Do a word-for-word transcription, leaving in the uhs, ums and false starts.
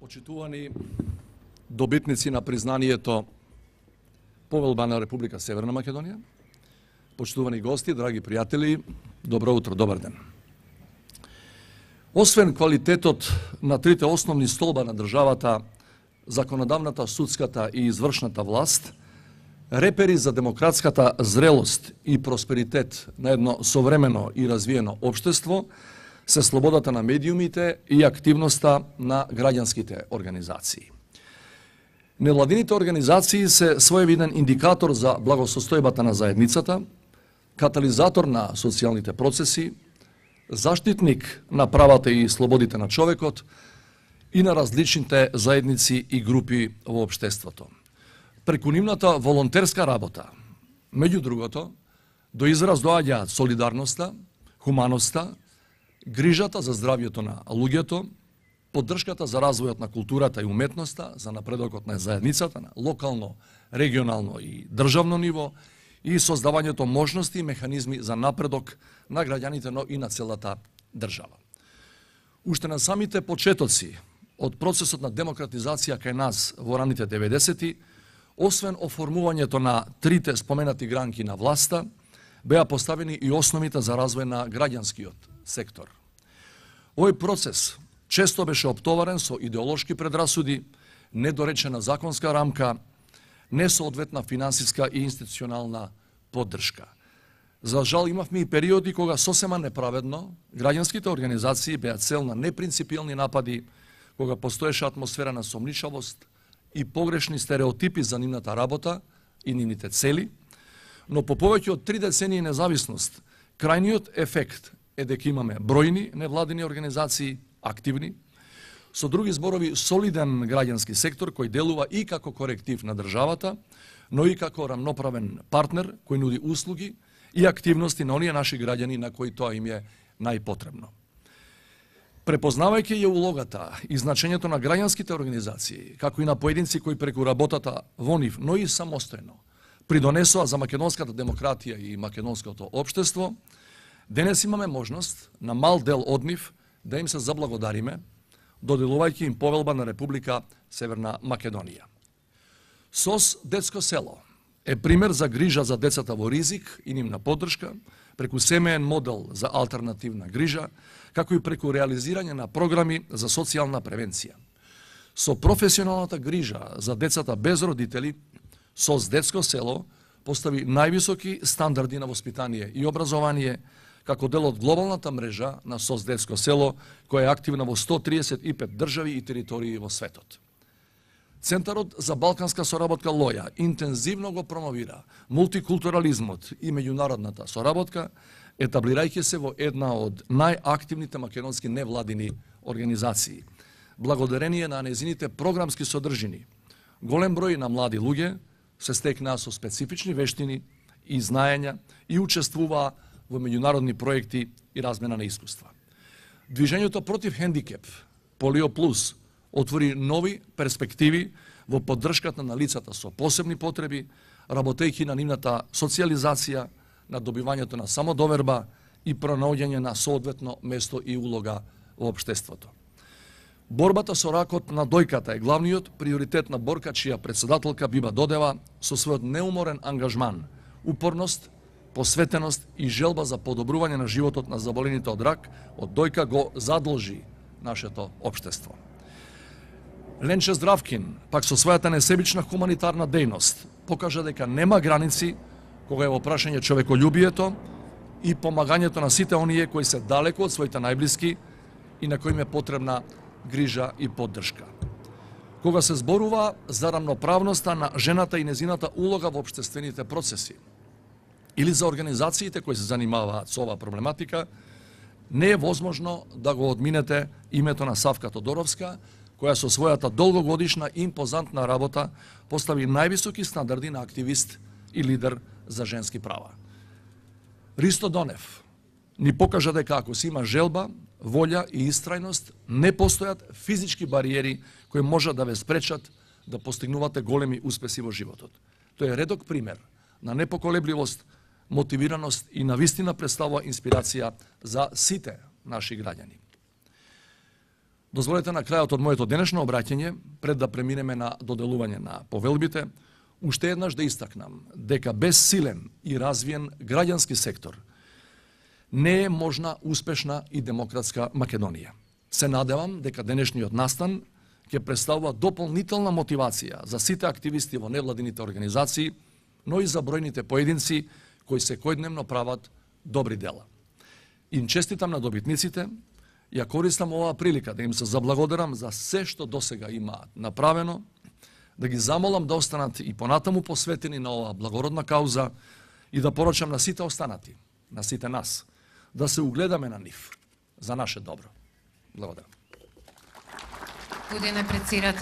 Почитувани добитници на признанието Повелба на Република Северна Македонија, почитувани гости, драги пријатели, добро утро, добар ден. Освен квалитетот на трите основни столба на државата, законодавната, судската и извршната власт, репери за демократската зрелост и просперитет на едно современо и развиено општество се слободата на медиумите и активноста на граѓанските организации. Невладините организации се своевиден индикатор за благосостојбата на заедницата, катализатор на социјалните процеси, заштитник на правата и слободите на човекот и на различните заедници и групи во општеството. Преку нивната волонтерска работа, меѓу другото, до израз доаѓаат солидарноста, хуманоста, грижата за здравјето на луѓето, поддршката за развојот на културата и уметноста, за напредокот на заедницата на локално, регионално и државно ниво и создавањето можности и механизми за напредок на граѓаните, но и на целата држава. Уште на самите почетоци од процесот на демократизација кај нас во раните деветдесети, освен оформувањето на трите споменати гранки на власта, беа поставени и основите за развој на граѓанскиот сектор. Овој процес често беше оптоварен со идеолошки предрасуди, недоречена законска рамка, несоодветна финансиска и институционална поддршка. За жал имавме и периоди кога сосема неправедно граѓанските организации беа цел на непринципилни напади, кога постоеше атмосфера на сомничавост и погрешни стереотипи за нивната работа и нивните цели, но по повеќе од три децении независност, крајниот ефект е дека имаме бројни невладини организации, активни, со други зборови солиден граѓански сектор кој делува и како коректив на државата, но и како рамноправен партнер кој нуди услуги и активности на оние наши граѓани на кои тоа им е најпотребно. Препознавајќи ја улогата и значењето на граѓанските организации, како и на поединци кои преку работата во нив, но и самостојно, придонесоа за македонската демократија и македонското општество, денес имаме можност на мал дел од нив да им се заблагодариме, доделувајќи им Повелба на Република Северна Македонија. СОС Детско село е пример за грижа за децата во ризик и нивна поддршка, преку семеен модел за алтернативна грижа, како и преку реализирање на програми за социјална превенција. Со професионалната грижа за децата без родители, СОС Детско село постави највисоки стандарди на воспитание и образование, како дел од глобалната мрежа на СОС Детско село, која е активна во сто триесет и пет држави и територии во светот. Центарот за балканска соработка Лоја интензивно го промовира мултикултурализмот и меѓународната соработка, етаблирајќи се во една од најактивните македонски невладини организации. Благодарение на незините програмски содржини, голем број на млади луѓе се стекнаа со специфични вештини и знаења и учествуваа во меѓународни проекти и размена на искуства. Движењето против хендикеп, Полио Плюс, отвори нови перспективи во поддршката на лицата со посебни потреби, работејќи на нивната социјализација, на добивањето на самодоверба и пронаоѓање на соодветно место и улога во општеството. Борбата со ракот на дојката е главниот приоритет на борка чија председателка Биба Додева со својот неуморен ангажман, упорност, посветеност и желба за подобрување на животот на заболените од рак од дојка го задолжи нашето општество. Ленче Здравкин, пак со својата несебична хуманитарна дејност, покажа дека нема граници кога е во прашање човеколюбието и помагањето на сите оние кои се далеку од своите најблиски и на кои им е потребна грижа и поддршка. Кога се зборува за рамноправноста на жената и незината улога во општествените процеси, или за организациите кои се занимаваат со оваа проблематика, не е возможно да го одминете името на Савка Тодоровска, која со својата долгогодишна и импозантна работа постави највисоки стандарди на активист и лидер за женски права. Ристо Донев ни покажа дека ако се има желба, волја и истрајност, не постојат физички бариери кои можат да ве спречат да постигнувате големи успеси во животот. Тој е редок пример на непоколебливост, мотивираност и навистина представува инспирација за сите наши граѓани. Дозволете на крајот од моето денешно обраќање, пред да преминеме на доделување на повелбите, уште еднаш да истакнам дека без силен и развиен граѓански сектор не е можна успешна и демократска Македонија. Се надевам дека денешниот настан ќе представува дополнителна мотивација за сите активисти во невладините организации, но и за бројните поединци кои секојдневно прават добри дела. Им честитам на добитниците, ја користам оваа прилика да им се заблагодарам за се што досега имаат направено, да ги замолам да останат и понатаму посветени на оваа благородна кауза и да порачам на сите останати, на сите нас, да се угледаме на нив за наше добро. Благодарам.